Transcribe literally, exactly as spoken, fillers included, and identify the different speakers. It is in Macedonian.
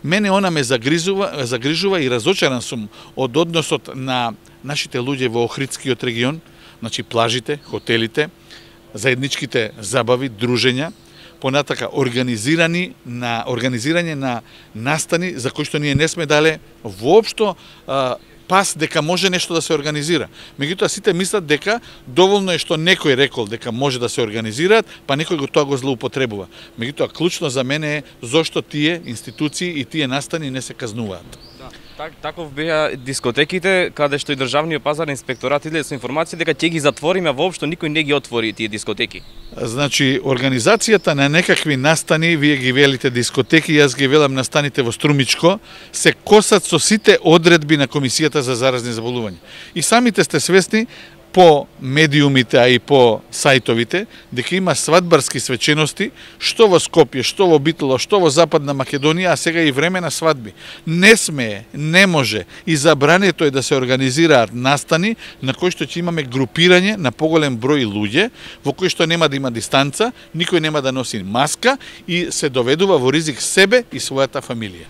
Speaker 1: Мене она ме загрижува, загрижува и разочаран сум од односот на нашите луѓе во Охридскиот регион, значи плажите, хотелите, заедничките забави, дружења, понатака организирани на организирање на настани за кои што ние не сме дале воопшто а, пас дека може нешто да се организира. Меѓутоа сите мислат дека доволно е што некој рекол дека може да се организираат, па некој го тоа го злоупотребува. Меѓутоа клучно за мене е зошто тие институции и тие настани не се казнуваат.
Speaker 2: Да. Так, таков беа дискотеките, каде што и државниот пазарен инспекторат излезе со информација дека ќе ги затвориме, воопшто никој не ги отвори тие дискотеки.
Speaker 1: Значи, организацијата на некакви настани, вие ги велите дискотеки, јас ги велам настаните во Струмичко, се косат со сите одредби на Комисијата за заразни заболувања. И самите сте свесни по медиумите, а и по сајтовите, дека има свадбарски свечености, што во Скопје, што во Битола, што во Западна Македонија, а сега и време на свадби. Не смее, не може и забрането е да се организираат настани на кои што ќе имаме групирање на поголем број луѓе, во кои што нема да има дистанца, никој нема да носи маска и се доведува во ризик себе и својата фамилија.